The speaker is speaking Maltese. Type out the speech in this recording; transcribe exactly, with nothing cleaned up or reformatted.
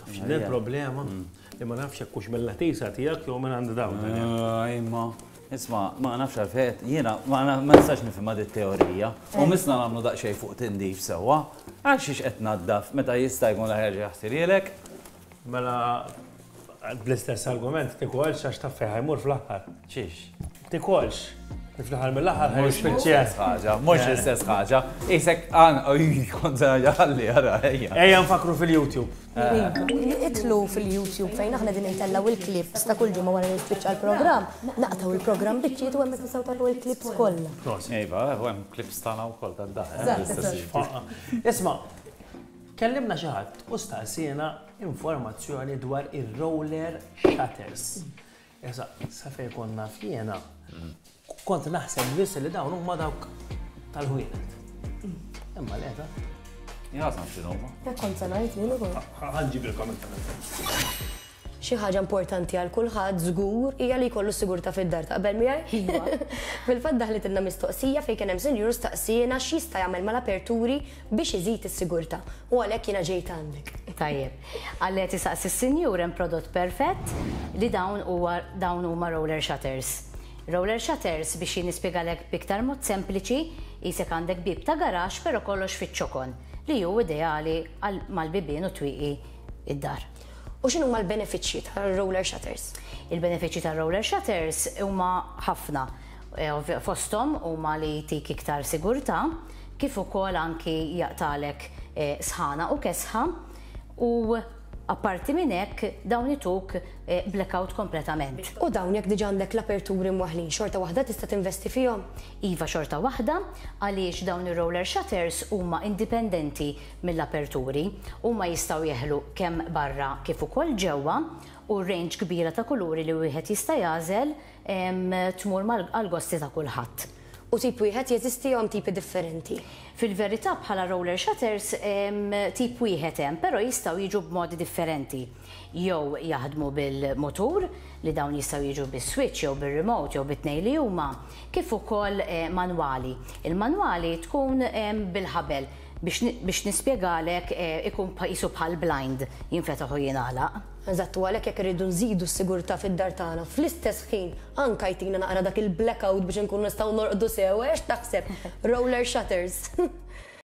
Taf x'inhi l-problema? Li ma nafx hekk hux mill-latisa tiegħek jew minn għand dawn. Imma, isma', ma nafx għalfejn, jiena ma ma nistax nifhimha dit teorija. U missna nagħmlu daqsxejn fuq tindif sewwa. Għal xiex qed naddaf meta jista' jkun l-aħjar jaħsilhielek? Mela bl-istess argument tikolx għax taf fejn ħa jmur fl-aħħar. Xiex? Tikolx. Fl-aħħar mill-aħħar ħa Mhux jispiċċja. l-istess ħaġa, mhux l-istess ħaġa. Isek għan, oj, kont ħalli, ara, ejja. Ejja nfakru fil-YouTube. Itilgħu fil-YouTube fejn aħna din intellgħu il-clips ta' kull ġimgħa wara li jispiċċa l-programm. Naqtgħu il-programm biċċiet u hemmhekk nistgħu taraw il-clips kollha. Iva, u hemm clips tagħna wkoll tad-dar. Isma', kellimna xi ħadd u staqsina informazzjoni dwar ir-roller shutters. Issa, sa fejn konna fjena, kont naħseb biss li dawn huma dawk tal-ħwienet. Imma le ta. Jazam x'inhuma. Hekk kont se ngħid jien ukoll. Ħa nġibilkom inta. Xi ħaġa importanti għal kulħadd żgur hija li jkollu sigurtà fid-dar, taqbel miegħi? Fil-fatt daħlitilna mistoqsija fejn kien hemm sinjur staqsiena x'jista' jagħmel mal-aperturi biex iżid is-sigurtà. U għalhekk jiena ġejt għandek. Tajjeb. Għalli qed isaqsi s-sinjur, hemm prodott perfett li dawn huwa dawn huma roller shutters. Roller shutters, biex jien nispjegalek b'iktar mod sempliċi, qisek għandek bib ta' garaxx però kollox fiċ-ċokon, li hu ideali għal mal-bibien u twieqi id-dar. U x'inhu huma l-benefiċċji tal-roller shutters? Il-benefiċċji tal-roller shutters huma ħafna. Eh, ovvja- Fosthom huma li jtik iktar sigurtà, kif ukoll anki jaqtalek eh, sħana u kesħa, u apparti minn hekk dawn ituk eh, blackout kompletament. U dawn, jekk diġà għandek l-aperturi mwaħlin, xorta waħda tista' tinvesti fihom? Iva, xorta waħda, għaliex dawn ir-roller shutters huma indipendenti mill-aperturi, huma jistgħu jeħlu kemm barra kif ukoll ġewwa, u range kbira ta' kuluri li wieħed jista' jagħżel em, tmur mal- għal-gosti ta' kulħadd. U tip wieħed jeżisti jew tipi differenti? Fil-verità, bħala roller shutters em, tip wieħed hemm, però jistgħu jiġu b'modi differenti. Jew jaħdmu bil-motur, li dawn jistgħu jiġu bis-switch jew bir-remote jew bit-tnejn li huma, kif ukoll eh, manwali. Il-manwali tkun em, bil-ħabel, biex ni- biex nispjegalek, eh, ikun pa- qisu bħal blind, jinfetaħ u jingħalaq. Eżatt, u għalhekk jekk irridu nżidu s-sigurtà fid-dar tagħna, fl-istess ħin anka jtina naqra dak il-blackout biex nkunu nistgħu norqdu sew, għax taħseb roller shutters.